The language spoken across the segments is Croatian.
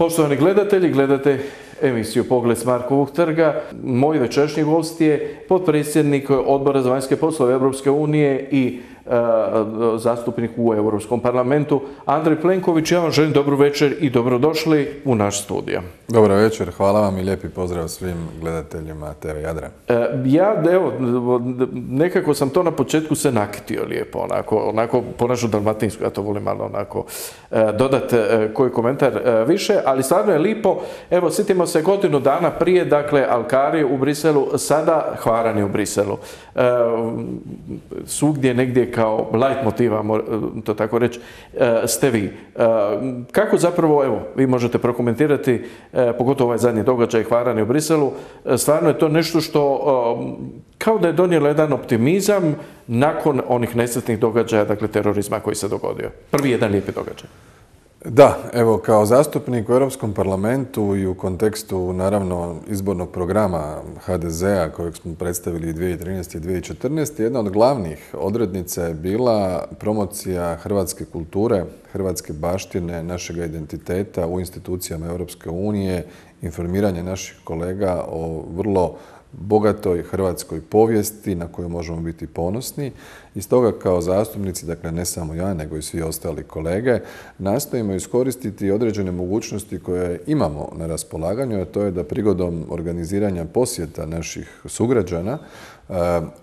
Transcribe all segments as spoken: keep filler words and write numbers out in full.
Poštovani gledatelji, gledate emisiju Pogled s Markovog trga. Moj večerašnji gost je potpredsjednik Odbora za vanjske poslove Europske unije i e, zastupnik u Europskom parlamentu Andrej Plenković. Ja vam želim dobru večer i dobrodošli u naš studio. Dobro večer, hvala vam i lijepi pozdrav svim gledateljima te ve Jadran. E, ja, evo, nekako sam to na početku se nakitio lijepo, onako, onako po našu dalmatinsku, ja to volim malo onako e, dodat e, koji komentar e, više, ali stvarno je lipo. Evo, sjetimo se godinu dana prije, dakle, Alkari u Briselu, sada Hvarani u Briselu. E, svugdje negdje kao light motiva, to tako reći, e, ste vi. E, kako zapravo, evo, vi možete prokomentirati, e, pogotovo ovaj zadnji događaj Hvarani u Briselu, e, stvarno je to nešto što e, kao da je donijelo jedan optimizam nakon onih nesretnih događaja, dakle, terorizma koji se dogodio. Prvi jedan lijepi događaj. Da, evo, kao zastupnik u Europskom parlamentu i u kontekstu, naravno, izbornog programa ha de zea kojeg smo predstavili dvije tisuće trinaeste. i dvije tisuće četrnaeste. jedna od glavnih odrednica je bila promocija hrvatske kulture, hrvatske baštine, našega identiteta u institucijama Europske unije, informiranje naših kolega o vrlo bogatoj hrvatskoj povijesti na koju možemo biti ponosni. I stoga kao zastupnici, dakle ne samo ja, nego i svi ostali kolege, nastojimo iskoristiti određene mogućnosti koje imamo na raspolaganju, a to je da prigodom organiziranja posjeta naših sugrađana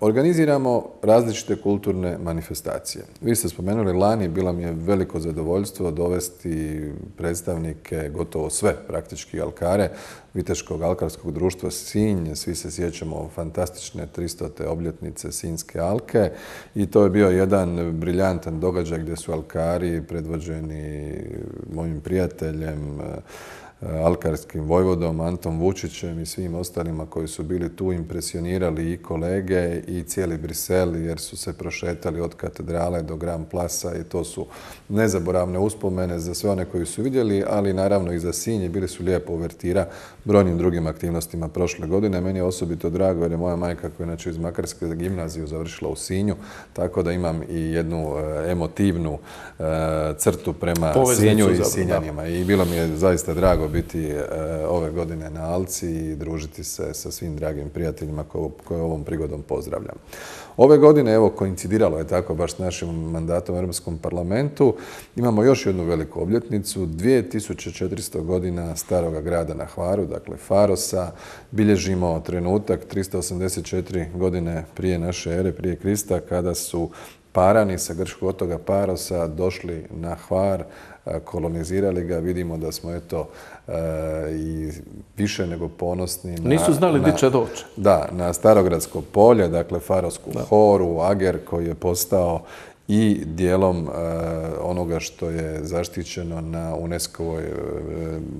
organiziramo različite kulturne manifestacije. Vi ste spomenuli lani, bilo mi je veliko zadovoljstvo dovesti predstavnike, gotovo sve praktički alkare, Viteškog alkarskog društva Sinj. Svi se sjećamo fantastične tristote obljetnice Sinjske alke i to je bio jedan briljantan događaj gdje su alkari predvođeni mojim prijateljem, alkarskim vojvodom Antom Vučićem i svim ostalima koji su bili tu, impresionirali i kolege i cijeli Brisel jer su se prošetali od katedrale do Grand Plasa i to su nezaboravne uspomene za sve one koji su vidjeli, ali naravno i za Sinj, bili su lijepo uvertira brojnim drugim aktivnostima prošle godine. Meni je osobito drago jer je moja majka koja je inače iz Makarske gimnaziju završila u Sinju, tako da imam i jednu emotivnu crtu prema Sinju i Sinjanima i bilo mi je zaista drago biti ove godine na Alci i družiti se sa svim dragim prijateljima koje ovom prigodom pozdravljam. Ove godine, evo, koincidiralo je tako baš s našim mandatom u Europskom parlamentu, imamo još jednu veliku obljetnicu, dvije tisuće četiristo godina staroga grada na Hvaru, dakle Farosa. Bilježimo trenutak tristo osamdeset četiri godine prije naše ere, prije Krista, kada su Parani sa grčkog otoka Parosa došli na Hvar, kolonizirali ga. Vidimo da smo eto i više nego ponosni. Nisu znali gdje će doći. Da, na Starogradsko polje, dakle Farosku horu, Ager koji je postao i dijelom onoga što je zaštićeno na UNESCO-voj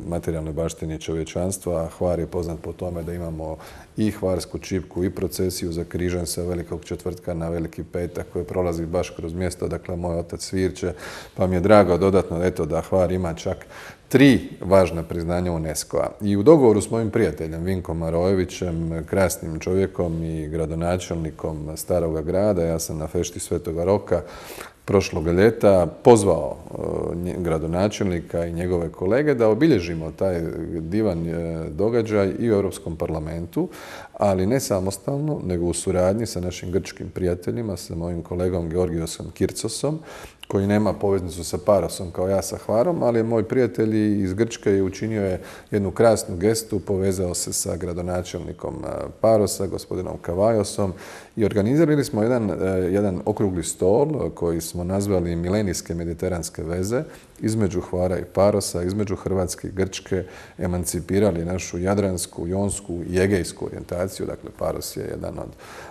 materijalnoj baštini čovječanstva. Hvar je poznat po tome da imamo i hvarsku čipku i procesiju za križan sa Velikog četvrtka na Veliki petak koji prolazi baš kroz mjesto, dakle moj otac Svirče, pa mi je drago dodatno eto da Hvar ima čak tri važna priznanja UNESCO-a. I u dogovoru s mojim prijateljem Vinkom Marojevićem, krasnim čovjekom i gradonačelnikom staroga grada, ja sam na fešti Svetoga Roka prošlog ljeta pozvao gradonačelnika i njegove kolege da obilježimo taj divan događaj i u Europskom parlamentu, ali ne samostalno, nego u suradnji sa našim grčkim prijateljima, sa mojim kolegom Georgiosom Kircosom, koji nema poveznicu sa Parosom kao ja sa Hvarom, ali moj prijatelj iz Grčke je učinio je jednu krasnu gestu, povezao se sa gradonačelnikom Parosa, gospodinom Kavajosom i organizirali smo jedan, jedan okrugli stol koji smo nazvali Milenijske mediteranske veze između Hvara i Parosa, između Hrvatske i Grčke, emancipirali našu jadransku, jonsku i egejsku orijentaciju. Dakle, Paros je jedan od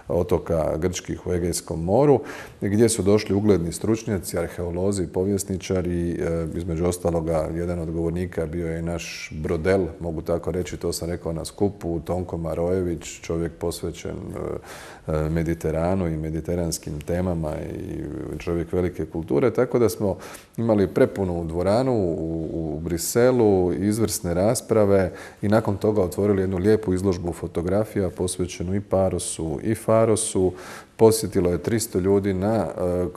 otoka grčkih u Egejskom moru, gdje su došli ugledni stručnjaci, arheolozi, povjesničari. Između ostaloga, jedan od govornika bio je naš Brodel, mogu tako reći, to sam rekao na skupu, Tonko Marojević, čovjek posvećen Mediteranu i mediteranskim temama i čovjek velike kulture, tako da smo imali prepunu plenarnu dvoranu u, u Briselu, izvrsne rasprave i nakon toga otvorili jednu lijepu izložbu fotografija posvećenu i Parosu i Farosu. Posjetilo je tristo ljudi, na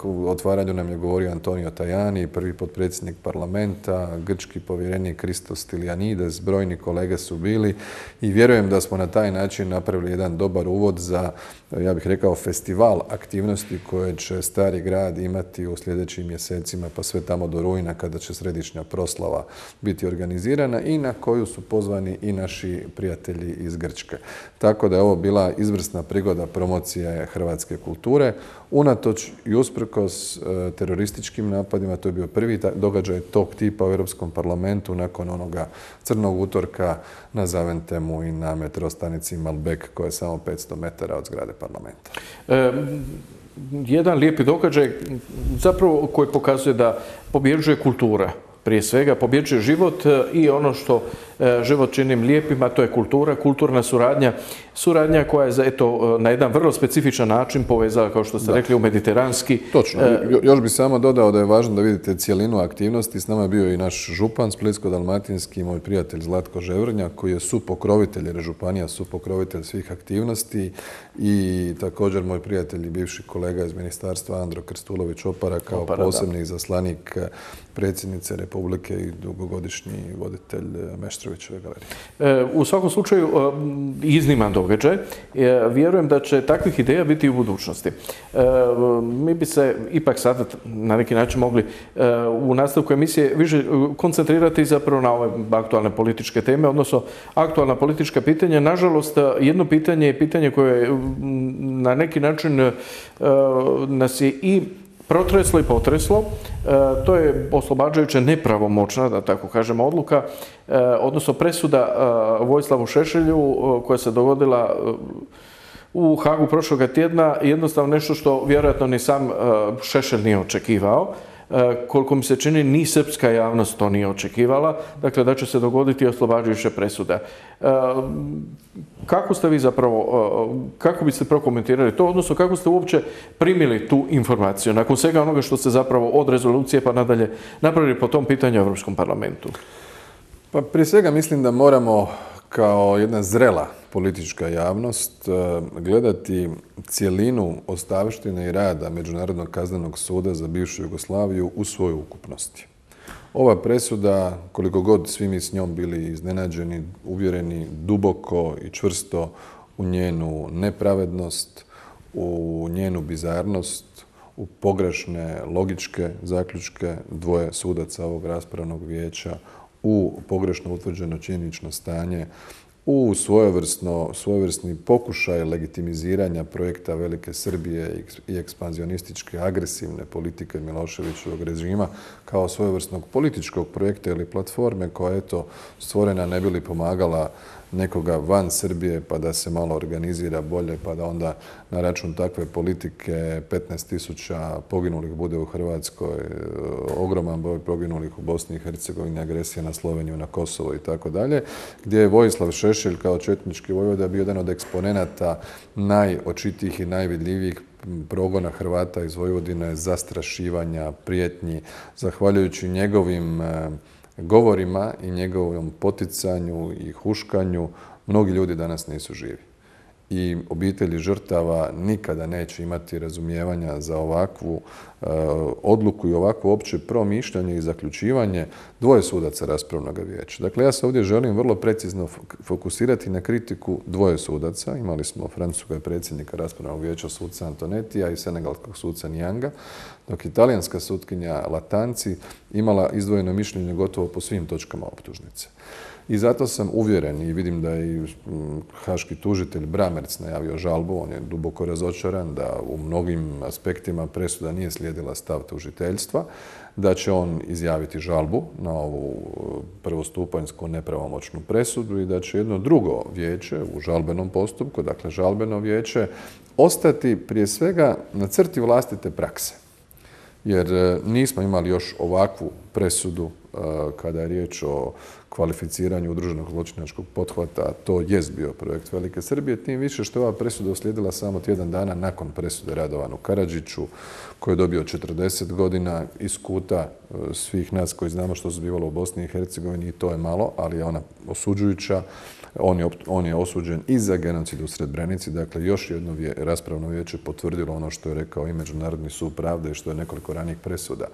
uh, otvaranju nam je govorio Antonio Tajani, prvi potpredsjednik parlamenta, grčki povjerenik Christos Stylianides, brojni kolege su bili i vjerujem da smo na taj način napravili jedan dobar uvod za, ja bih rekao, festival aktivnosti koje će Stari grad imati u sljedećim mjesecima, pa sve tamo do rujna kada će središnja proslava biti organizirana i na koju su pozvani i naši prijatelji iz Grčke. Tako da je ovo bila izvrsna prigoda promocije hrvatske kulture. Unatoč i usprkos e, terorističkim napadima, to je bio prvi događaj tog tipa u Europskom parlamentu nakon onoga crnog utorka na Zaventemu i na metrostanici Malbec koja je samo petsto metara od zgrade parlamenta. E, jedan lijepi događaj zapravo koji pokazuje da pobjeđuje kultura. Prije svega pobjeđuje život i ono što život čini lijepim, a to je kultura, kulturna suradnja. Suradnja koja je eto, na jedan vrlo specifičan način povezala, kao što ste da. rekli, u mediteranski. Točno. Još bih samo dodao da je važno da vidite cijelinu aktivnosti. S nama je bio i naš župan splitsko-dalmatinski, moj prijatelj Zlatko Ževrnja, koji je supokrovitelj, jer je županija supokrovitelj svih aktivnosti, i također moj prijatelj i bivši kolega iz ministarstva Andro Krstulović-Opara kao Opara, posebni da. izaslanik predsjednice Republike i dugogodišnji voditelj Meštrovićeve galerije. U svakom slučaju, izniman događaj. Vjerujem da će takvih ideja biti i u budućnosti. Mi bi se ipak sada na neki način mogli u nastavku emisije više koncentrirati zapravo na ove aktualne političke teme, odnosno aktualna politička pitanja. Nažalost, jedno pitanje je pitanje koje na neki način nas je i protreslo i potreslo. E, to je oslobađajuća nepravomoćna, da tako kažemo, odluka, e, odnosno presuda e, Vojislavu Šešelju e, koja se dogodila e, u Hagu prošloga tjedna, jednostavno nešto što vjerojatno ni sam e, Šešelj nije očekivao. E, koliko mi se čini, ni srpska javnost to nije očekivala, dakle da će se dogoditi oslobađajuća presuda. E, kako ste vi zapravo, e, kako biste prokomentirali to, odnosno kako ste uopće primili tu informaciju, nakon svega onoga što ste zapravo od rezolucije pa nadalje napravili po tom pitanju u Europskom parlamentu? Pa prije svega mislim da moramo kao jedna zrela politička javnost gledati cjelinu ostavštine i rada Međunarodnog kaznenog suda za bivšu Jugoslaviju u svojoj ukupnosti. Ova presuda, koliko god svi mi s njom bili iznenađeni, uvjereni duboko i čvrsto u njenu nepravednost, u njenu bizarnost, u pogrešne logičke zaključke dvoje sudaca ovog raspravnog vijeća, u pogrešno utvrđeno činjenično stanje, u svojevrsno, svojevrsni pokušaj legitimiziranja projekta Velike Srbije i ekspanzionističke agresivne politike Miloševićevog režima kao svojevrsnog političkog projekta ili platforme koja je eto stvorena ne bi li pomagala nekoga van Srbije pa da se malo organizira bolje pa da onda na račun takve politike petnaest tisuća poginulih bude u Hrvatskoj, ogroman broj poginulih u Bosni i Hercegovini, agresija na Sloveniju, na Kosovo i tako dalje, gdje je Vojislav Šešelj kao četnički vojvoda bio jedan od eksponenata najočitijih i najvidljivijih progona Hrvata iz Vojvodine, zastrašivanja, prijetnji, zahvaljujući njegovim govorima i njegovom poticanju i huškanju, mnogi ljudi danas nisu živi. I obitelji žrtava nikada neće imati razumijevanja za ovakvu e, odluku i ovakvo opće promišljanje i zaključivanje dvoje sudaca raspravnog vijeća. Dakle, ja se ovdje želim vrlo precizno fokusirati na kritiku dvoje sudaca. Imali smo francuskog predsjednika raspravnog vijeća suca Antonetija i senegalskog suca Nianga, dok italijanska sutkinja Latanci imala izdvojeno mišljenje gotovo po svim točkama optužnice. I zato sam uvjeren i vidim da je i haški tužitelj Bramerc najavio žalbu, on je duboko razočaran da u mnogim aspektima presuda nije slijedila stav tužiteljstva, da će on izjaviti žalbu na ovu prvostupanjsku nepravomoćnu presudu i da će jedno drugo vijeće u žalbenom postupku, dakle žalbeno vijeće, ostati prije svega na crti vlastite prakse. Jer nismo imali još ovakvu presudu kada je riječ o kvalificiranju udruženog zločinačkog pothvata. To jest bio projekt Velike Srbije, tim više što je ova presuda uslijedila samo tjedan dana nakon presude Radovanu Karadžiću, koji je dobio četrdeset godina iz kuta svih nas koji znamo što se zbivalo u Bosni i Hercegovini, i to je malo, ali je ona osuđujuća. On je, on je osuđen i za genocid u Srebrenici, dakle još jedno vje, raspravno vijeće potvrdilo ono što je rekao i Međunarodni sud pravde i što je nekoliko ranijih presuda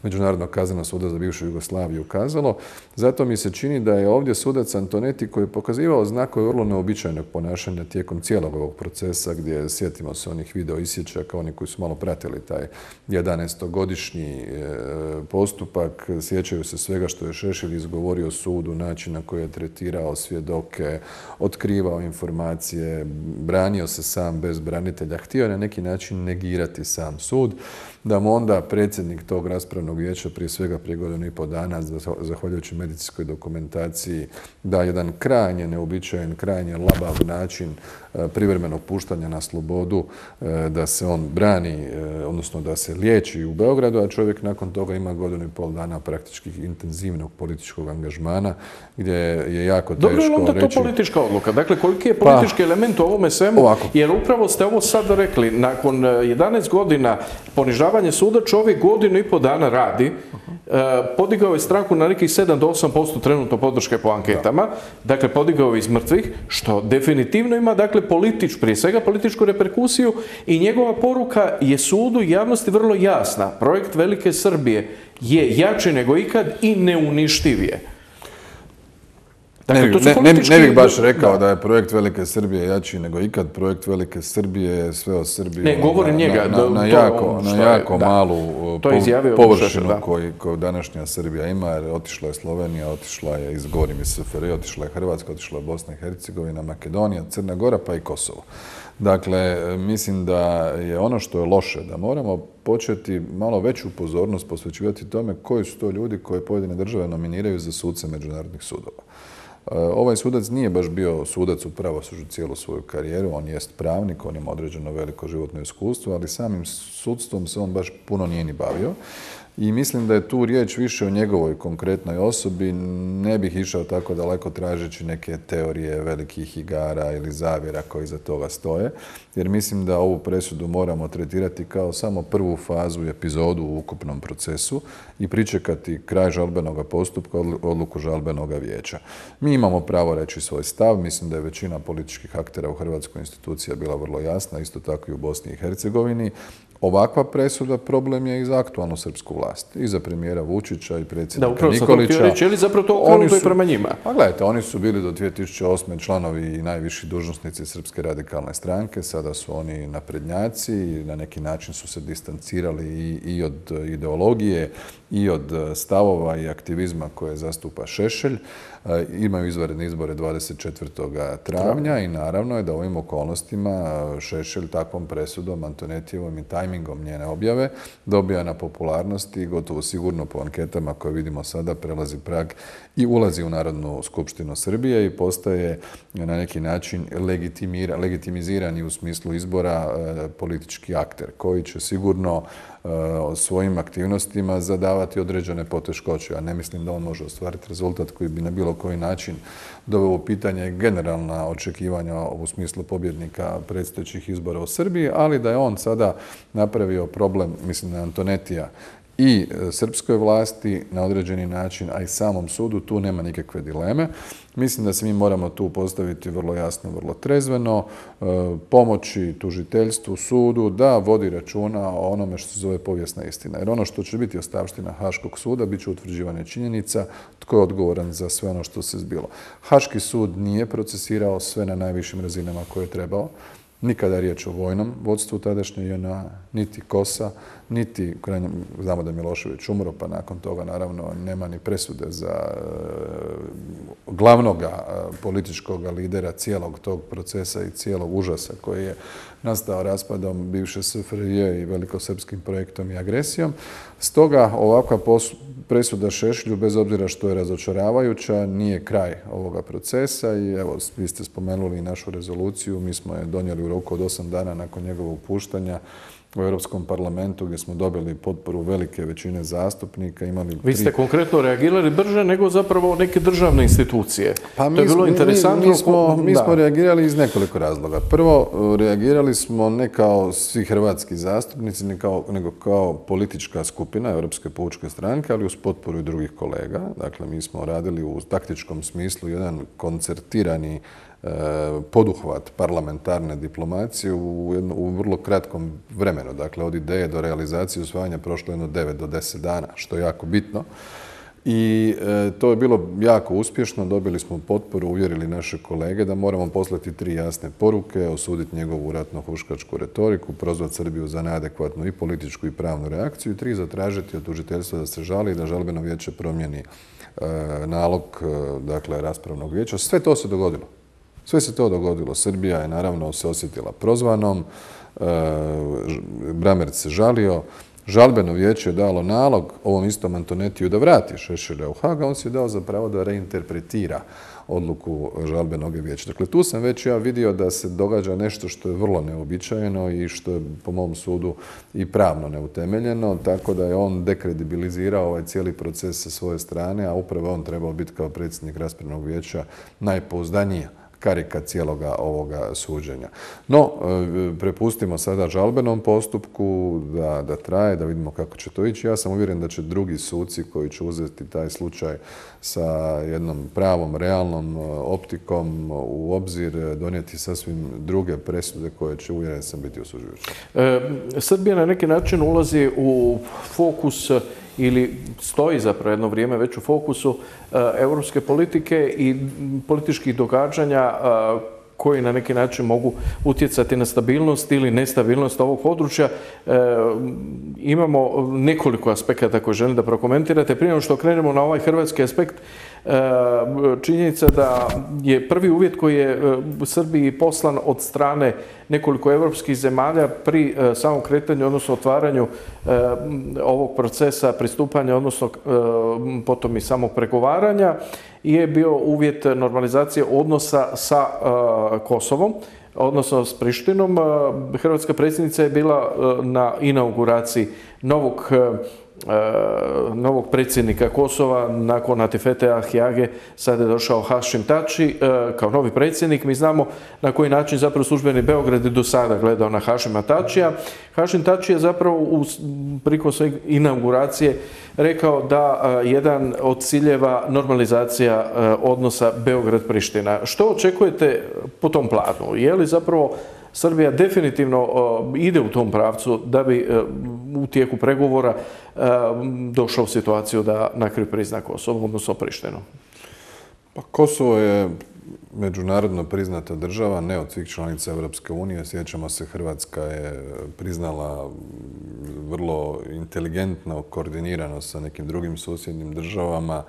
Međunarodnog kaznenog suda za bivšu Jugoslaviju ukazalo. Zato mi se čini da je ovdje sudac Antonetti, koji je pokazivao znakove vrlo neobičajnog ponašanja tijekom cijelog ovog procesa, gdje, sjetimo se onih video isječaka, oni koji su malo pratili taj jedanaestogodišnji postupak, sjećaju se svega što je Šešelj izgovorio sudu, način na koji je tretirao svjedoke, otkrivao informacije, branio se sam bez branitelja, htio je na neki način negirati sam sud, da mu onda predsjednik tog raspravnog vijeća prije svega prije godinu i pol dana, zahvaljujući medicinskoj dokumentaciji, da jedan krajnje neuobičajen, krajnje labav način privremenog puštanja na slobodu, da se on brani, odnosno da se liječi u Beogradu, a čovjek nakon toga ima godinu i pol dana praktički intenzivnog političkog angažmana, gdje je jako teško reći... Dobro, onda to politička odluka. Dakle, koliki je politički pa, element u ovome svemu? Ovako. Jer upravo ste ovo sad rekli, nakon jedanaest godina ponižavanja suda, čovjek godinu i pol dana radi, podigao je stranku na nekih sedam do osam posto trenutno podrške po anketama, da. Dakle, podigao je iz mrtvih, što definitivno ima, dakle, politič, prije svega političku reperkusiju, i njegova poruka je sudu i javnosti vrlo jasna. Projekt Velike Srbije je jači nego ikad i neuništiv je. Dakle, ne, ne, politički... ne bih baš rekao da. da je projekt Velike Srbije jači nego ikad. Projekt Velike Srbije je sve o Srbiji ne, govorim na, njega, na, na, na jako, na jako je, malu po, površinu da. koju, koju današnja Srbija ima. Jer otišla je Slovenija, otišla je iz govorim iz S F R I, otišla je Hrvatska, otišla je Bosna i Hercegovina, Makedonija, Crna Gora pa i Kosovo. Dakle, mislim da je ono što je loše, da moramo početi malo veću pozornost posvećivati tome koji su to ljudi koje pojedine države nominiraju za suce međunarodnih sudova. Ovaj sudac nije baš bio sudac u pravosuđu cijelu svoju karijeru, on jest pravnik, on ima određeno veliko životno iskustvo, ali samim sudstvom se on baš puno nije ni bavio. I mislim da je tu riječ više o njegovoj konkretnoj osobi. Ne bih išao tako daleko tražeći neke teorije velikih igara ili zavjera koji iza toga stoje, jer mislim da ovu presudu moramo tretirati kao samo prvu fazu i epizodu u ukupnom procesu i pričekati kraj žalbenog postupka, odluku žalbenog vijeća. Mi imamo pravo reći svoj stav, mislim da je većina političkih aktera u Hrvatskoj institucija bila vrlo jasna, isto tako i u Bosni i Hercegovini. Ovakva presuda problem je i za aktualnu srpsku vlast, i za premijera Vučića i predsjednika Nikolića. Da, upravo sam to reći, je li zapravo to okrenuto i prema njima? Pa gledajte, oni su bili do dvije tisuće osme članovi i najviši dužnosnici Srpske radikalne stranke, sada su oni naprednjaci i na neki način su se distancirali i, i od ideologije i od stavova i aktivizma koje zastupa Šešelj. Imaju izvanredne izbore dvadeset četvrtog travnja i naravno je da u ovim okolnostima Šešelj takvom presudom, Antonetijevom i tajmingom njene objave dobija na popularnosti i gotovo sigurno po anketama koje vidimo sada prelazi prag i ulazi u Narodnu skupštinu Srbije i postaje na neki način legitimizirani u smislu izbora politički akter koji će sigurno svojim aktivnostima zadavati određene poteškoće. Ja ne mislim da on može ostvariti rezultat koji bi na bilo koji način doveo u pitanje generalna očekivanja u smislu pobjednika predstojećih izbora u Srbiji, ali da je on sada napravio problem, mislim na Antonetija, i srpskoj vlasti na određeni način, a i samom sudu, tu nema nikakve dileme. Mislim da se mi moramo tu postaviti vrlo jasno, vrlo trezveno, pomoći tužiteljstvu, sudu, da vodi računa o onome što se zove povijesna istina. Jer ono što će biti ostavština Haškog suda, bit će utvrđivanje činjenica, tko je odgovoran za sve ono što se zbilo. Haški sud nije procesirao sve na najvišim razinama koje je trebao. Nikada je riječ o vojnom vodstvu tadašnje J N A, niti Kosa, niti, znamo da je Milošević umro, pa nakon toga naravno nema ni presude za glavnog političkog lidera cijelog tog procesa i cijelog užasa koji je nastao raspadom bivše S F R J i velikosrpskim projektom i agresijom. Stoga ovakva presuda Šešlju, bez obzira što je razočaravajuća, nije kraj ovoga procesa i evo, vi ste spomenuli našu rezoluciju, mi smo je donijeli u roku od osam dana nakon njegovog puštanja u Europskom parlamentu gdje smo dobili potporu velike većine zastupnika. Imali Vi ste konkretno reagirali brže nego zapravo neke državne institucije. Pa mi, to je bilo mi, interesantno. Mi, smo, mi smo reagirali iz nekoliko razloga. Prvo, reagirali smo ne kao svi hrvatski zastupnici, ne kao, nego kao politička skupina Europske pučke stranke, ali uz potporu i drugih kolega. Dakle, mi smo radili u taktičkom smislu jedan koncertirani poduhvat parlamentarne diplomacije u, jedno, u vrlo kratkom vremenu. Dakle, od ideje do realizacije usvajanja prošlo jedno devet do deset dana, što je jako bitno. I e, to je bilo jako uspješno. Dobili smo potporu, uvjerili naše kolege da moramo poslati tri jasne poruke, osuditi njegovu ratno-huškačku retoriku, prozvati Srbiju za neadekvatnu i političku i pravnu reakciju i tri, zatražiti od tužiteljstva da se žali i da žalbeno vijeće promijeni e, nalog e, dakle, raspravnog vijeća. Sve to se dogodilo. Sve se to dogodilo. Srbija je naravno se osjetila prozvanom, e, Brammertz se žalio, žalbeno vijeće je dalo nalog ovom istom Antonetiju da vrati Šešelja u Haag, a on si je dao za pravo da reinterpretira odluku žalbenog vijeća. Dakle, tu sam već ja vidio da se događa nešto što je vrlo neobičajeno i što je po mom sudu i pravno neutemeljeno, tako da je on dekredibilizirao ovaj cijeli proces sa svoje strane, a upravo on trebao biti kao predsjednik raspravnog vijeća najpouzdanija karika cijeloga ovoga suđenja. No, prepustimo sada žalbenom postupku da, da traje, da vidimo kako će to ići. Ja sam uvjeren da će drugi suci koji će uzeti taj slučaj sa jednom pravom, realnom optikom u obzir donijeti sasvim druge presude koje će, uvjeren sam, biti osuđujuće. E, Srbija na neki način ulazi u fokus ili stoji zapravo jedno vrijeme već u fokusu europske politike i političkih događanja koji na neki način mogu utjecati na stabilnost ili nestabilnost ovog područja. E, imamo nekoliko aspekata koje želim da prokomentirate. Prije nego što krenemo na ovaj hrvatski aspekt, e, činjenica da je prvi uvjet koji je Srbiji poslan od strane nekoliko evropskih zemalja pri e, samom kretanju, odnosno otvaranju e, ovog procesa pristupanja, odnosno e, potom i samog pregovaranja, je bio uvjet normalizacije odnosa sa uh, Kosovom, odnosno s Prištinom. Uh, Hrvatska predsjednica je bila uh, na inauguraciji novog, uh, novog predsjednika Kosova nakon Atifete Ahjage. Sada je došao Hašim Tači uh, kao novi predsjednik. Mi znamo na koji način zapravo službeni Beograd je do sada gledao na Hašima Tačija. Hašim Tači je zapravo u, prilikom svoje inauguracije rekao da uh, jedan od ciljeva normalizacija uh, odnosa Beograd-Priština. Što očekujete po tom planu? Je li zapravo Srbija definitivno uh, ide u tom pravcu da bi uh, u tijeku pregovora uh, došla u situaciju da na kraju prizna Kosovo, odnosno Prištinu? Pa Kosovo je međunarodno priznata država, ne od svih članica Europske unije. Sjećamo se, Hrvatska je priznala vrlo inteligentno, koordinirano sa nekim drugim susjednim državama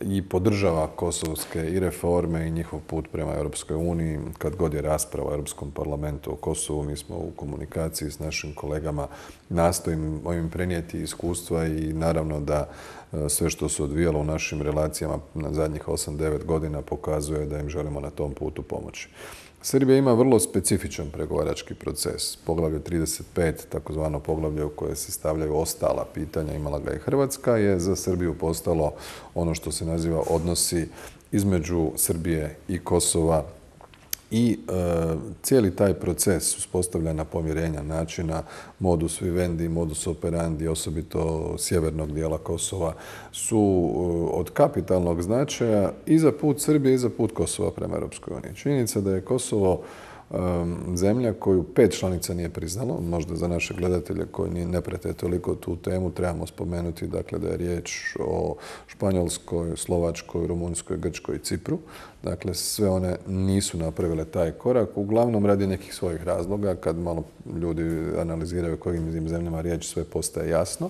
i podržava kosovske i reforme i njihov put prema Europskoj uniji. Kad god je rasprava u Europskom parlamentu o Kosovu, mi smo u komunikaciji s našim kolegama, nastojimo im prenijeti iskustva i naravno da sve što se odvijalo u našim relacijama na zadnjih osam devet godina pokazuje da im želimo na tom putu pomoći. Srbija ima vrlo specifičan pregovarački proces. Poglavlje trideset pet, takozvano poglavlje u koje se stavljaju ostala pitanja, imala ga i Hrvatska, je za Srbiju postalo ono što se naziva odnosi između Srbije i Kosova i e, cijeli taj proces uspostavljanja pomirenja, načina modus vivendi, modus operandi, osobito sjevernog dijela Kosova, su e, od kapitalnog značaja i za put Srbije i za put Kosova prema Europskoj uniji. Činjenica da je Kosovo zemlja koju pet članica nije priznalo, možda za naše gledatelje koji ne prate toliko tu temu, trebamo spomenuti dakle, da je riječ o Španjolskoj, Slovačkoj, Rumunjskoj, Grčkoj i Cipru. Dakle, sve one nisu napravile taj korak, uglavnom radi nekih svojih razloga. Kad malo ljudi analiziraju kojim im zemljama riječ, sve postaje jasno.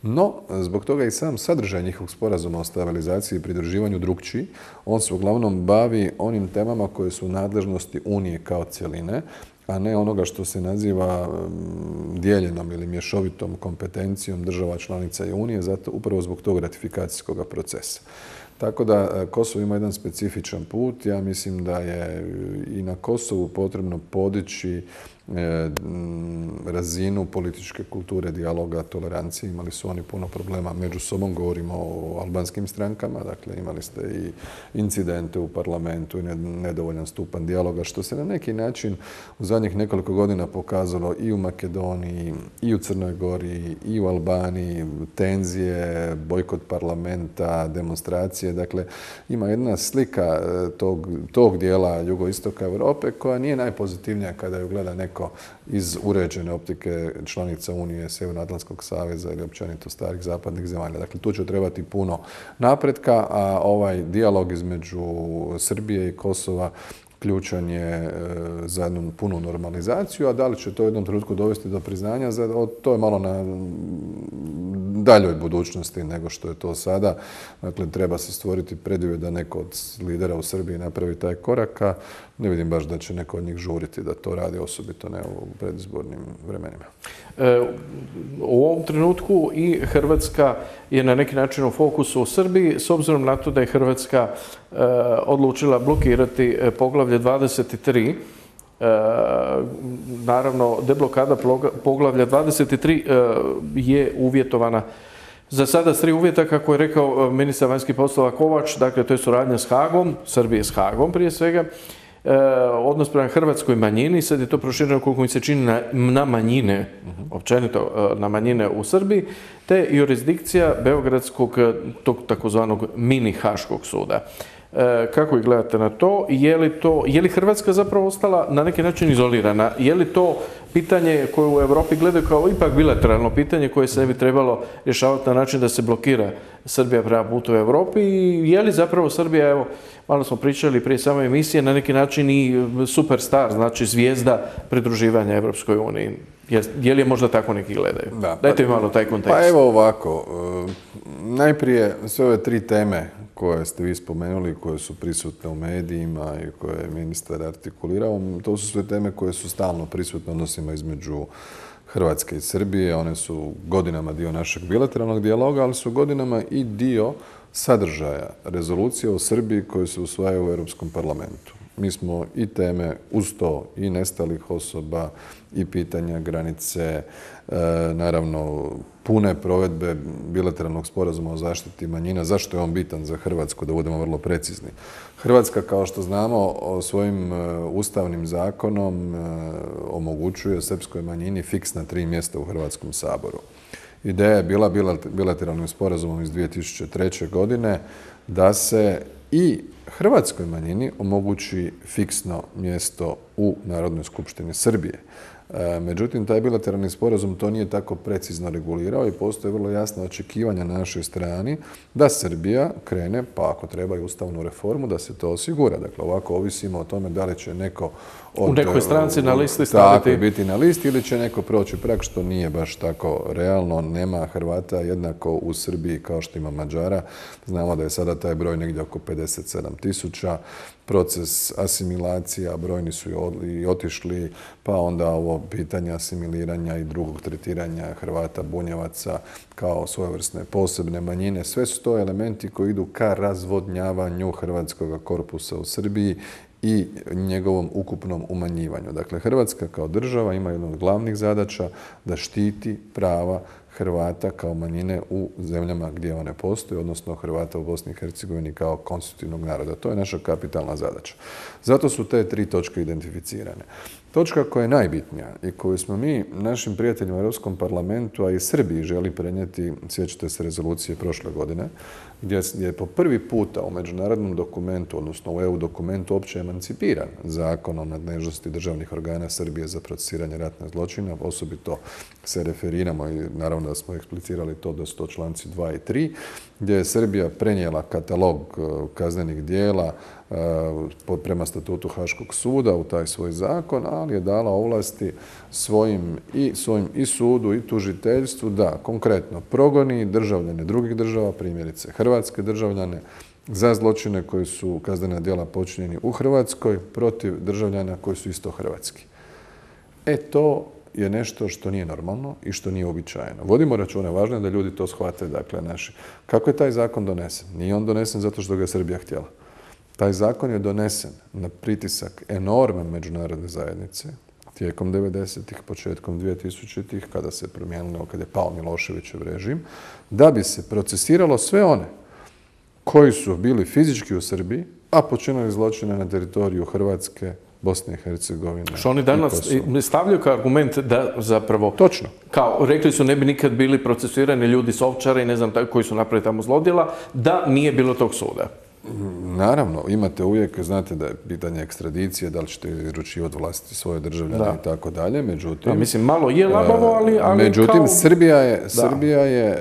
No, zbog toga i sam sadržaj njihovog sporazuma o stabilizaciji i pridruživanju drukčiji. On se uglavnom bavi onim temama koje su u nadležnosti Unije kao cjeline, a ne onoga što se naziva dijeljenom ili mješovitom kompetencijom država članica i Unije, zato upravo zbog tog ratifikacijskog procesa. Tako da Kosovo ima jedan specifičan put. Ja mislim da je i na Kosovu potrebno podići razinu političke kulture, dijaloga, tolerancije. Imali su oni puno problema među sobom, govorimo o albanskim strankama, dakle imali ste i incidente u parlamentu i nedovoljan stupanj dijaloga, što se na neki način u zadnjih nekoliko godina pokazalo i u Makedoniji, i u Crnoj Gori, i u Albaniji, tenzije, bojkot parlamenta, demonstracije. Dakle, ima jedna slika tog, tog dijela jugoistoka Europe koja nije najpozitivnija kada ju gleda neko iz uređene optike članica Unije, Sjevernoatlantskog saveza ili općenito starih zapadnih zemalja. Dakle, tu će trebati puno napretka, a ovaj dijalog između Srbije i Kosova ključan je za jednu punu normalizaciju, a da li će to u jednom trenutku dovesti do priznanja, to je malo na daljoj budućnosti nego što je to sada. Dakle, treba se stvoriti preduvjet da neko od lidera u Srbiji napravi taj korak, a ne vidim baš da će neko od njih žuriti da to radi, osobito ne u predizbornim vremenima. E, u ovom trenutku i Hrvatska je na neki način u fokusu u Srbiji, s obzirom na to da je Hrvatska e, odlučila blokirati poglavlje dvadeset tri. E, naravno, deblokada poglavlja dvadeset tri e, je uvjetovana za sada s tri uvjeta, kako je rekao ministar vanjskih poslova Kovač, dakle to je suradnja s Hagom, Srbije s Hagom prije svega, E, odnos prema hrvatskoj manjini, sad je to prošireno koliko mi se čini na, na manjine, uh-huh. općenito na manjine u Srbiji, te jurisdikcija Beogradskog, tog takozvanog mini Haškog suda. E, kako ih gledate na to? Je li to, je li Hrvatska zapravo ostala na neki način izolirana? Je li to pitanje koje u Europi gledaju kao ipak bilateralno pitanje koje se ne bi trebalo rješavati na način da se blokira Srbija prema putu u Europi? I je li zapravo Srbija, evo, malo smo pričali prije same emisije, na neki način i superstar, znači zvijezda pridruživanja Evropskoj uniji? Je, je li je možda tako neki gledaju? Da, pa, dajte mi malo taj kontekst. Pa evo ovako, najprije sve ove tri teme koje ste vi spomenuli, koje su prisutne u medijima i koje je ministar artikulirao, to su sve teme koje su stalno prisutne odnosima između Hrvatske i Srbije. One su godinama dio našeg bilateralnog dijaloga, ali su godinama i dio sadržaja rezolucije o Srbiji koje se usvajaju u Europskom parlamentu. Mi smo i teme uz to i nestalih osoba i pitanja granice, e, naravno pune provedbe bilateralnog sporazuma o zaštiti manjina. Zašto je on bitan za Hrvatsku, da budemo vrlo precizni? Hrvatska, kao što znamo, svojim ustavnim zakonom omogućuje srpskoj manjini fiksna tri mjesta u Hrvatskom saboru. Ideja je bila bilateralnim sporazumom iz dvije tisuće treće. godine da se i hrvatskoj manjini omogući fiksno mjesto u Narodnoj skupštini Srbije. Međutim, taj bilateralni sporazum to nije tako precizno regulirao i postoje vrlo jasna očekivanja na našoj strani da Srbija krene, pa ako treba i ustavnu reformu, da se to osigura. Dakle, ovako ovisimo o tome da li će neko od, u nekoj stranci na listi staviti. Tako, biti na listi ili će neko proći prag, što nije baš tako realno. Nema Hrvata jednako u Srbiji kao što ima Mađara. Znamo da je sada taj broj negdje oko pedeset sedam tisuća. Proces asimilacija, brojni su i otišli, pa onda ovo pitanje asimiliranja i drugog tretiranja Hrvata, Bunjevaca kao svojevrsne posebne manjine. Sve su to elementi koji idu ka razvodnjavanju hrvatskog korpusa u Srbiji i njegovom ukupnom umanjivanju. Dakle, Hrvatska kao država ima jednu od glavnih zadaća da štiti prava Hrvata kao manjine u zemljama gdje one postoje, odnosno Hrvata u Bosni i Hercegovini kao konstitutivnog naroda. To je naša kapitalna zadaća. Zato su te tri točke identificirane. Točka koja je najbitnija i koju smo mi našim prijateljima u Europskom parlamentu, a i Srbiji želi prenijeti, sjećate se rezolucije prošle godine, gdje je po prvi puta u međunarodnom dokumentu, odnosno u E U dokumentu, opće emancipiran zakon o nadležnosti državnih organa Srbije za procesiranje ratnih zločina. Osobito se referiramo i naravno da smo eksplicirali to da su to članci dva i tri, gdje je Srbija prenijela katalog kaznenih dijela prema statutu Haškog suda u taj svoj zakon, ali je dala ovlasti svojim i, svojim i sudu i tužiteljstvu da konkretno progoni državljane drugih država, primjerice hrvatske državljane, za zločine koji su kaznena djela počinjeni u Hrvatskoj protiv državljana koji su isto hrvatski. E to je nešto što nije normalno i što nije uobičajeno. Vodimo račune, važno je da ljudi to shvate, dakle, naši. Kako je taj zakon donesen? Nije on donesen zato što ga je Srbija htjela. Taj zakon je donesen na pritisak enormne međunarodne zajednice tijekom devedesetih, početkom dvije-tisućitih, kada se promijenilo, kada je pao Miloševićev režim, da bi se procesiralo sve one koji su bili fizički u Srbiji, a počinili zločine na teritoriju Hrvatske, Bosne i Hercegovine. Što oni danas stavljaju kao argument da zapravo... Točno. Kao, rekli su ne bi nikad bili procesuirani ljudi s Ovčara i ne znam koji su napravili tamo zlodjela, da nije bilo tog suda. Naravno, imate uvijek, znate da je pitanje ekstradicije, da li ćete izručivati vlasti svoje državljane i tako dalje, međutim... Da, mislim, malo je labavo, ali, ali međutim, kao... Srbija je, Srbija je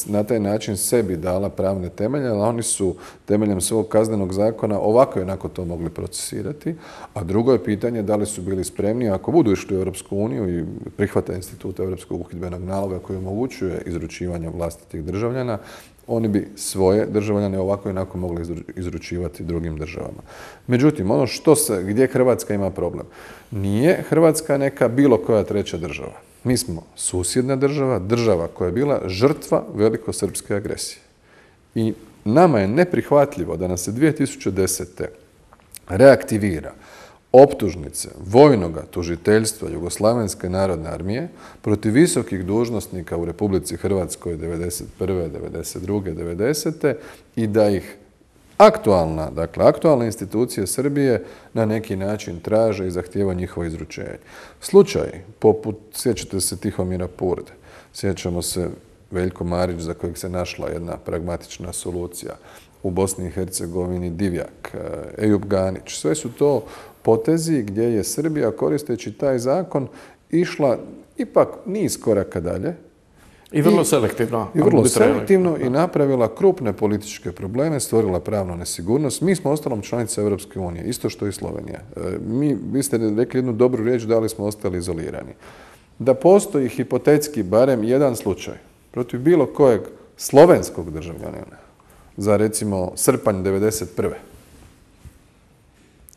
na taj način sebi dala pravne temelje, ali oni su temeljem svog kaznenog zakona ovako i onako to mogli procesirati, a drugo je pitanje da li su bili spremni, ako budu išli u Europsku uniju i prihvate institut Europskog uhidbenog naloga koji omogućuje izručivanje vlastitih državljana, oni bi svoje državljane ovako i onako mogli izručivati drugim državama. Međutim, ono što se, gdje Hrvatska ima problem, nije Hrvatska neka bilo koja treća država. Mi smo susjedna država, država koja je bila žrtva velikosrpske agresije. I nama je neprihvatljivo da nas se dvije tisuće desete. reaktivira optužnice vojnoga tužiteljstva Jugoslavenske narodne armije protiv visokih dužnosnika u Republici Hrvatskoj devedeset prve, devedeset druge, devedesete i da ih aktualna, dakle aktualne institucije Srbije na neki način traže i zahtijeva njihovo izručenje. Slučaj poput, sjećate se Tihomira Purde, sjećamo se Veljko Marić za kojeg se našla jedna pragmatična solucija, u Bosni i Hercegovini Divjak, Ejub Ganić, sve su to potezi gdje je Srbija koristeći taj zakon išla ipak niz koraka dalje. I vrlo selektivno. I vrlo selektivno i napravila krupne političke probleme, stvorila pravnu nesigurnost. Mi smo ostalom članica Europske unije, isto što i Slovenija. Mi, vi ste rekli jednu dobru riječ, da li smo ostali izolirani. Da postoji hipotetski barem jedan slučaj protiv bilo kojeg slovenskog državljanina za recimo srpanj devedeset prve.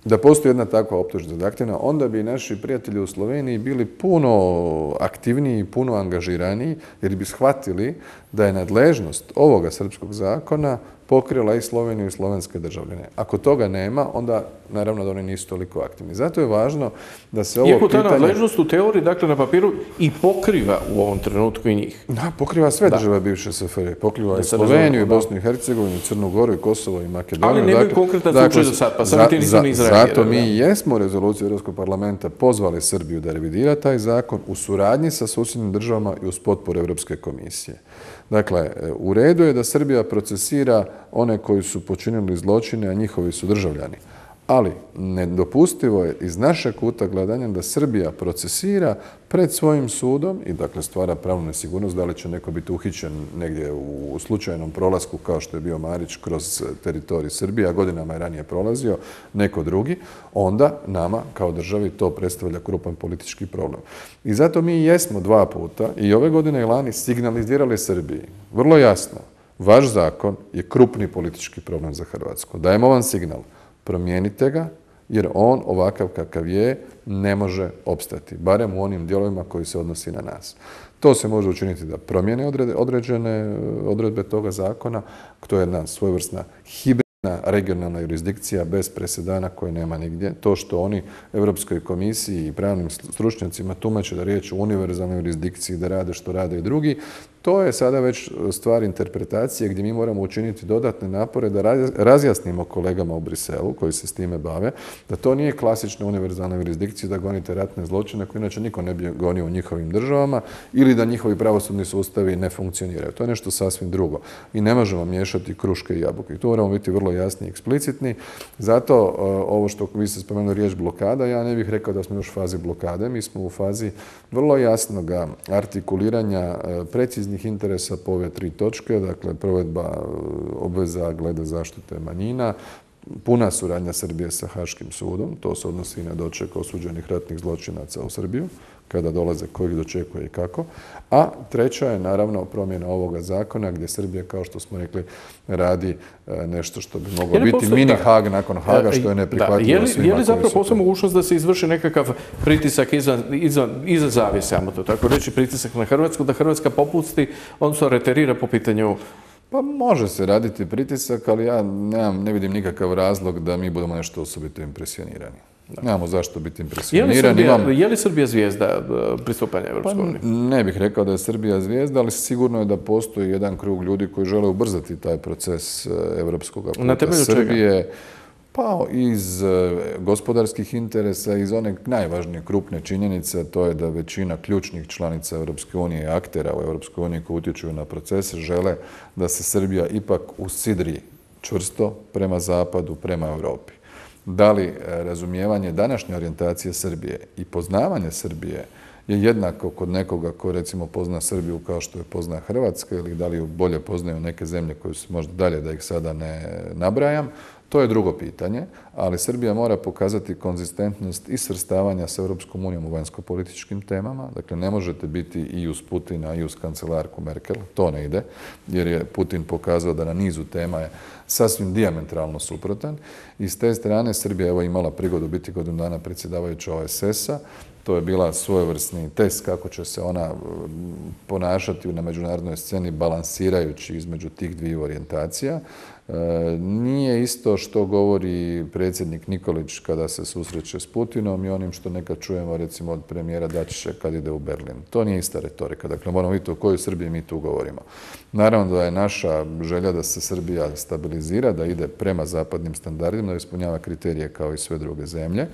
Da postoji jedna takva optužnica aktivna, onda bi naši prijatelji u Sloveniji bili puno aktivniji, puno angažiraniji, jer bi shvatili da je nadležnost ovoga srpskog zakona pokrila i Sloveniju i slovenske državljane. Ako toga nema, onda naravno da oni nisu toliko aktivni. Zato je važno da se ovo Iako ta pitanje... nadležnost u teoriji, dakle na papiru, i pokriva u ovom trenutku i njih. Da, pokriva sve da. države bivše S F R. Pokriva i Sloveniju, i Bosnu i Hercegovinu, i Crnu Goru, i Kosovo, i Makedoniju. Ali nemaju dakle, konkretan slučaj dakle, do sad, pa sam ti nisam izreagirao. Zato mi da. jesmo rezoluciju Europskog parlamenta pozvali Srbiju da revidira taj zakon u suradnji sa susjednim državama i uz potporu Europske komisije. Dakle, u redu je da Srbija procesira one koji su počinili zločine, a njihovi su državljani. Ali nedopustivo je iz našeg kuta gledanja da Srbija procesira pred svojim sudom i dakle stvara pravnu nesigurnost da li će neko biti uhićen negdje u slučajnom prolasku kao što je bio Marić kroz teritorij Srbije, a godinama je ranije prolazio neko drugi, onda nama kao državi to predstavlja krupan politički problem. I zato mi jesmo dva puta i ove godine i lani signalizirali Srbiji vrlo jasno, vaš zakon je krupni politički problem za Hrvatsku. Dajemo vam signal. Promijenite ga, jer on ovakav kakav je ne može opstati, barem u onim dijelovima koji se odnosi na nas. To se može učiniti da promijene određene odredbe toga zakona, to je jedna svojevrsna hibridna regionalna jurisdikcija bez presedana koje nema nigdje. To što oni Europskoj komisiji i pravnim stručnjacima tumače da riječ o univerzalnoj jurisdikciji, da rade što rade i drugi, to je sada već stvar interpretacije gdje mi moramo učiniti dodatne napore da razjasnimo kolegama u Briselu koji se s time bave, da to nije klasična univerzalna jurisdikcija da gonite ratne zločine koje inače niko ne bi gonio u njihovim državama ili da njihovi pravosudni sustavi ne funkcioniraju. To je nešto sasvim drugo. I ne možemo miješati kruške i jabuke. I tu moramo biti vrlo jasni i eksplicitni. Zato ovo što vi ste spomenuli riječ blokada, ja ne bih rekao da smo još u fazi blokade. Mi smo u fazi vrlo jasnog artikuliranja preciznih interesa po ove tri točke, dakle provedba obveza glede zaštite manjina, puna suradnja Srbije sa Haškim sudom, to se odnosi i na doček osuđenih ratnih zločinaca u Srbiju, kada dolaze, ko ih dočekuje i kako. A treća je naravno promjena ovoga zakona gdje Srbija, kao što smo rekli, radi nešto što bi moglo biti postoji, mini da, Hag nakon Haga, što je neprihvatljivo je li, svima. Je li zapravo postoji mogućnost da se izvrši nekakav pritisak izvan, izvan, iza zavjese, ajmo to tako reći, pritisak na Hrvatsku, da Hrvatska popusti, odnosno reterira po pitanju. Pa može se raditi pritisak, ali ja nemam, ne vidim nikakav razlog da mi budemo nešto osobito impresionirani. Da. Nemamo zašto biti impresionirani. Je li Srbija, Imam... je li Srbija zvijezda pristupanja Evropskoj uniji? Pa ne bih rekao da je Srbija zvijezda, ali sigurno je da postoji jedan krug ljudi koji žele ubrzati taj proces evropskog puta Na temelju Srbije. Čega? Pa iz gospodarskih interesa, iz one najvažnije krupne činjenice, to je da većina ključnih članica Europske unije i aktera u Europskoj uniji koji utječu na procese žele da se Srbija ipak usidri čvrsto prema zapadu, prema Europi. Da li razumijevanje današnje orijentacije Srbije i poznavanje Srbije je jednako kod nekoga ko recimo pozna Srbiju kao što je pozna Hrvatska ili da li ju bolje poznaju neke zemlje koje su možda dalje da ih sada ne nabrajam, to je drugo pitanje, ali Srbija mora pokazati konzistentnost i svrstavanja s Europskom unijom u vanjsko-političkim temama. Dakle, ne možete biti i uz Putina i uz kancelarku Merkel, to ne ide, jer je Putin pokazao da na nizu tema je sasvim dijametralno suprotan. I s te strane Srbija je imala prigodu biti godinu dana predsjedavajuća O E S S-a. To je bila svojevrsni test kako će se ona ponašati na međunarodnoj sceni balansirajući između tih dviju orijentacija. E, nije isto što govori predsjednik Nikolić kada se susreće s Putinom i onim što nekad čujemo recimo od premijera Dačića kad ide u Berlin. To nije ista retorika. Dakle, moramo vidjeti o kojoj Srbiji mi tu govorimo. Naravno da je naša želja da se Srbija stabilizira, da ide prema zapadnim standardima, da ispunjava kriterije kao i sve druge zemlje.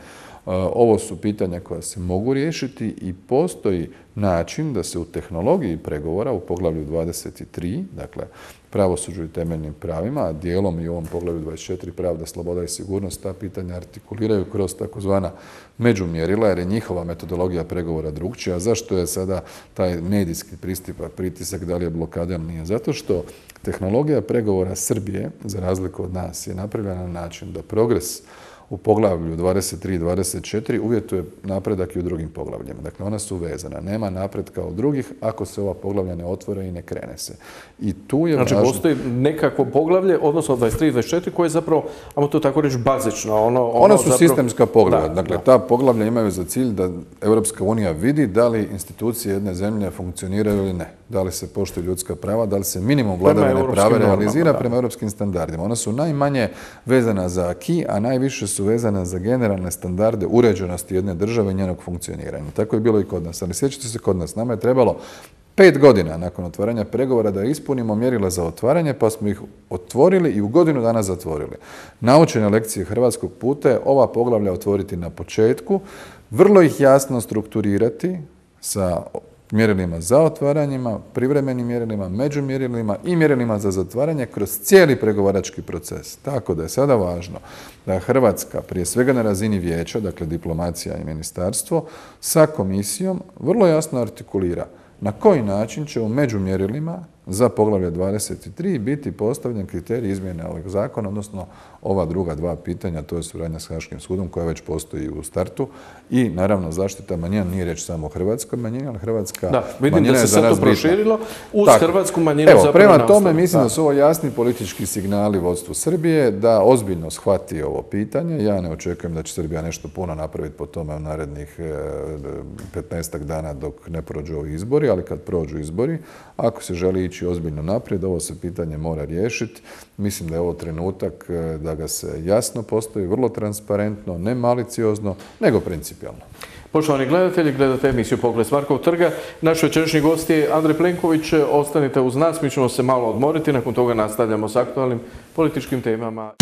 Ovo su pitanja koja se mogu riješiti i postoji način da se u tehnologiji pregovora u poglavlju dvadeset tri, dakle pravosuđu i temeljnim pravima, a dijelom i u ovom poglavlju dvadeset četiri pravda, sloboda i sigurnost, ta pitanja artikuliraju kroz takozvana međumjerila, jer je njihova metodologija pregovora drugčija. Zašto je sada taj medijski pristupak, pritisak, da li je blokada ili nije? Zato što tehnologija pregovora Srbije, za razliku od nas, je napravljena na način da progres u poglavlju dvadeset tri i dvadeset četiri uvjetuje napredak i u drugim poglavljima. Dakle, ona su vezana. Nema napretka od drugih ako se ova poglavlja ne otvore i ne krene se. I tu je znači, važno... postoji nekakvo poglavlje, odnosno dvadeset tri i dvadeset četiri, koje je zapravo, ajmo to tako reći, bazično. Ono, ono Ona su zapravo... sistemska poglavlja. Da, dakle, da. ta poglavlja imaju za cilj da Europska unija vidi da li institucije jedne zemlje funkcioniraju ili ne. Da li se poštuju ljudska prava, da li se minimum vladavine prava realizira prema europskim standardima. Ona su najmanje vezana za aki, a najviše su vezana za generalne standarde uređenosti jedne države i njenog funkcioniranja. Tako je bilo i kod nas. Ali sjećate se kod nas, nama je trebalo pet godina nakon otvaranja pregovora da ispunimo mjerila za otvaranje, pa smo ih otvorili i u godinu dana zatvorili. Naučene lekcije hrvatskog puta je ova poglavlja otvoriti na početku, vrlo ih jasno strukturirati sa mjerilima za otvaranjima, privremenim mjerilima, međumjerilima i mjerilima za zatvaranje kroz cijeli pregovarački proces. Tako da je sada važno da Hrvatska, prije svega na razini vijeća, dakle diplomacija i ministarstvo, sa komisijom vrlo jasno artikulira na koji način će u međumjerilima za poglavlje dvadeset tri biti postavljen kriterij izmjene ovog zakona, odnosno ova druga dva pitanja, to je suradnja s Haškim sudom koja već postoji u startu i naravno zaštita manjina, nije reč samo o hrvatskoj manjini, ali hrvatska da, vidim manjina da je se za nas to bitna. proširilo uz Tako. hrvatsku manjinu. Evo, zapravo prema tome nastav. mislim da. da su ovo jasni politički signali vodstvu Srbije da ozbiljno shvati ovo pitanje. Ja ne očekujem da će Srbija nešto puno napraviti po tome u narednih petnaestak dana dok ne prođu ovi izbori, ali kad prođu izbori, ako se želi ići ozbiljno naprijed, ovo se pitanje mora riješiti. Mislim da je ovo trenutak da ga se jasno postavi, vrlo transparentno, ne maliciozno, nego principijalno. Poštovani gledatelji, gledate emisiju Pogled s Markovog trga. Naš večerašnji gost je Andrej Plenković. Ostanite uz nas, mi ćemo se malo odmoriti, nakon toga nastavljamo s aktualnim političkim temama.